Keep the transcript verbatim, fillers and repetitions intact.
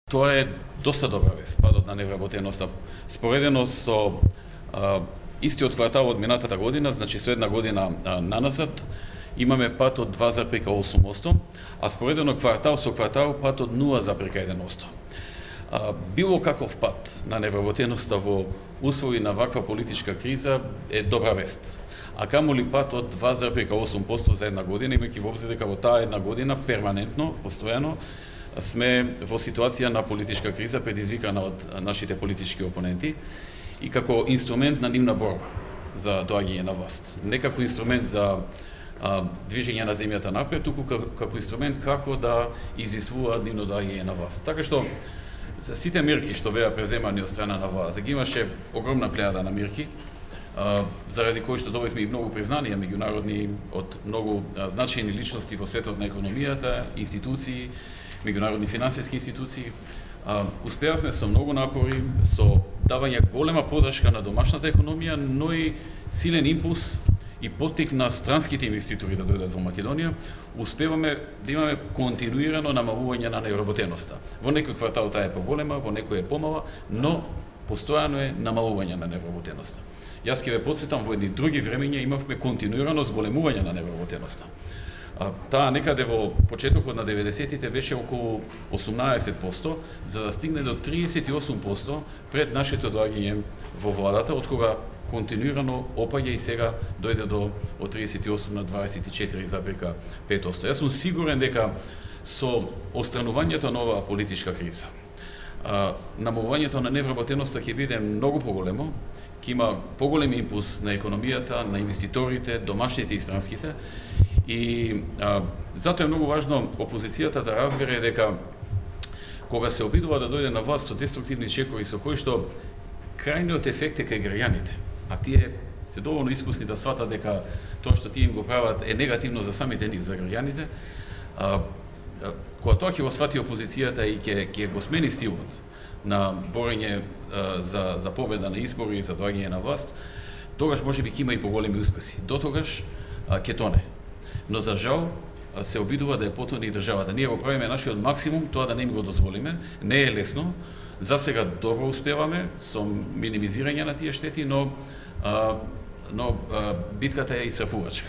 Тоа е доста добра вест, падот на невработеноста. Споредено со а, истиот квартал од минатата година, значи со една година а, наназад, имаме пат од два зарез осум одсто, а споредено квартал со квартал пат од нула зарез еден одсто. А, било каков пат на невработеноста во услови на ваква политичка криза е добра вест. А камоли пат од два зарез осум одсто за една година, имајќи во обзир дека во таа една година перманентно, постојано, сме во ситуација на политичка криза предизвикана од нашите политички опоненти и како инструмент на нивна борба за доаѓање на власт. Не како инструмент за а, движење на земјата напред, туку како инструмент како да изисвуваат нивно доаѓање на власт. Така што сите мерки што беа преземани од страна на владата, ги имаше огромна плејада на мерки, а, заради кои што добивме и многу признанија меѓународни од многу а, значајни личности во светот на економијата, институции, меѓународни финансиски институции. А, успеавме со многу напори, со давање голема подршка на домашната економија, но и силен импулс и поттик на странските инвеститори да дојдат во Македонија, успеваме да имаме континуирано намалување на невработеноста. Во некој квартал таа е поголема, во некој е помала, но постојано е намалување на невработеноста. Јас ќе ве потсетам, во едни други времења имавме континуирано зголемување на невработеноста. А, таа некаде во почетокот на деветдесетите беше околу осумнаесет одсто, за да стигне до триесет и осум одсто пред нашето доаѓање во владата, од кога континуирано опаѓа и сега дојде до од триесет и осум на дваесет и четири зарез пет одсто. Јас сум сигурен дека со отстранувањето на оваа политичка криза, а, намалувањето на невработеноста ќе биде многу поголемо, ќе има поголем импулс на економијата, на инвеститорите, домашните и странските. И а, затоа е многу важно опозицијата да разбере дека кога се обидува да дојде на власт со деструктивни чекови со кои што крајниот ефект е кај граѓаните, а тие се доволно искусни да сватат дека тоа што тие им го прават е негативно за самите нив, за граѓаните, а, а, кога тоа ќе го свати опозицијата и ќе ќе го смени стилот на борење а, за за победа на избори и за доаѓање на власт, тогаш можеби ќе има и поголеми успеси. До тогаш а, ќе тоне. Но за жал се обидува да ја потоне и државата. Ние го правиме нашиот максимум тоа да не им го дозволиме. Не е лесно. За сега добро успеваме со минимизирање на тие штети, но а, но а, битката е исцрпувачка.